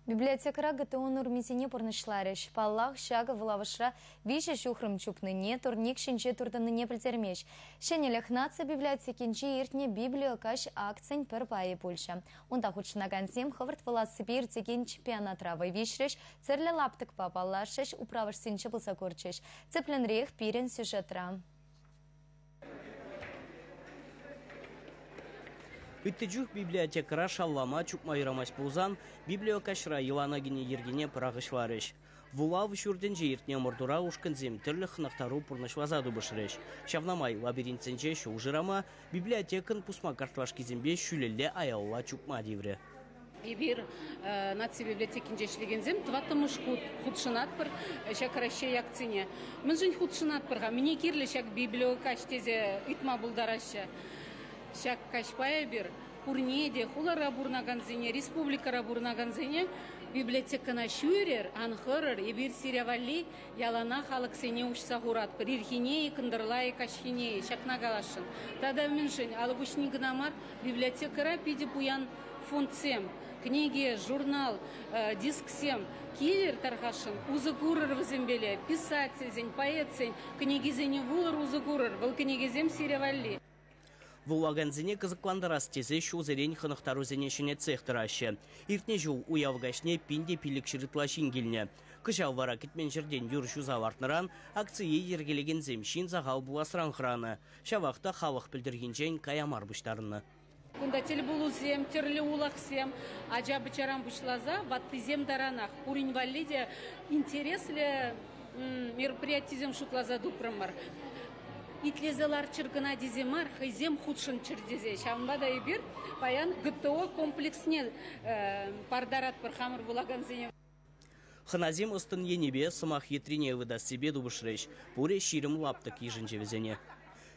Библиотекӑра ГТО нормисене пурнӑҫларӗҫ. Паллах, ҫакӑ вулавӑшра 3 ҫухрӑм чупнине, турник ҫинче туртӑннине пӗлтермест. Ҫӗнӗлӗх наци библиотекинче иртнӗ «Библиокаҫ» акцин пӗр пайӗ пулчӗ. Унта хутшӑнакансем хӑвӑрт вулассипе иртекен чемпионатра вӑй виҫрӗҫ, тӗрлӗ лаптӑкпа паллашрӗҫ, управӑшсенче пулса курчӗҫ. Тӗплӗнрех пирӗн сюжетра. Ытти чух библиотекӑра шавлама, чупма юрамасть пулсан, библиокаҫра йӑлана кӗнӗ йӗркене пӑрахӑҫларӗҫ. Вулав ҫуртӗнче иртнӗ ӑмӑртура ушкӑнсем тӗрлӗ хӑнӑхтару пурнӑҫласа тупӑшрӗҫ. Ҫавна май лабиринтсенче ҫул шырама, библиотекӑн пусма картлашкисемпе ҫӳлелле аялалла чупма тиврӗ. Эпир наци библиотекинче ӗҫлекенсем тӑваттӑмӗш хут хутшӑнатпӑр ҫак Раҫҫей акцине. Мӗншӗн хутшӑнатпӑр-ха? Мӗне кирлӗ ҫак библиокаҫ тесе ыйтма пултараҫҫӗ. Ҫак каҫпа эпир пурне те хулара пурӑнакансене, республикӑра пурӑнакансене библиотекӑна ҫӳрӗр, ан хӑрӑр, эпир сире валли яланах алӑксене уҫса хуратпӑр. Ирхине-и, кӑнтӑрла-и, каҫхине-и, ҫакна каласшӑн. Тата мӗншӗн алӑк уҫни кӑна мар, библиотекӑра питӗ пуян фондсем, кӗнеке, журнал, дисксем. Килӗр тархасшӑн, усӑ курӑр вӗсемпеле. Писательсен, поэтсен кӗнекисене вулӑр, усӑ курӑр. Вӑл кӗнекесем сире валли. Вулакансене кӑсӑклантарас тесе ҫулсерен хӑнӑхтарусене ҫӗнетсех тӑраҫҫӗ. Иртнӗ ҫул уяв каҫне 1500 ытла ҫын килнӗ. Кӑҫал вара кӗтмен ҫӗртен юр ҫуса лартнӑран акцие йӗркелекенсем ҫын сахал пуласран хӑранӑ. Ҫавах та халӑх пӗлтӗрхинчен кая мар пуҫтарӑннӑ. Кунта тӗлпулусем, тӗрлӗ улахсем, ача-пӑчаран пуҫласа ваттисем таранах пурин валли те интереслӗ мероприятисем шутласа тупрӑмӑр. Итлесе ларччӑр кӑна тесе мар, хӑйсем хутшӑнччӑр тесе. Ҫавӑнпа та эпир паян ГТО комплексне партаратпӑр хамӑр вулакансене. Хӑнасем ӑс-тӑн енӗпе сӑмах йӗтрине ывӑтассипе тупӑшрӗҫ. Пурӗ 20 лаптӑк йышӑнчӗ вӗсене.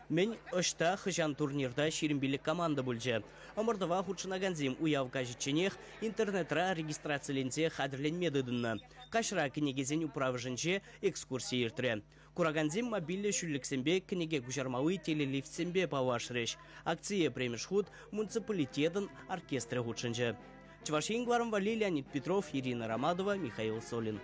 Мӗн, ӑҫта, хӑҫан турнирта 25 команда пулчӗ. Ӑмӑртӑва хутшӑнакансем уяв каҫӗчченех интернетра регистрациленсе хатӗрленме тытӑннӑ. Каҫра кӗнекесен управӑшӗнче экскурси иртрӗ. Куракансем мобильлӗ ҫӳллӗксемпе кӗнеке куҫармалли телелифтсемпе паллашрӗҫ. Акцие пӗрремӗш хут муниципалитетӑн оркестрӗ хутшӑнчӗ. Чӑваш Ен кӑларӑм валли Леонид Петров, Ирина Романова, Михаил Солин.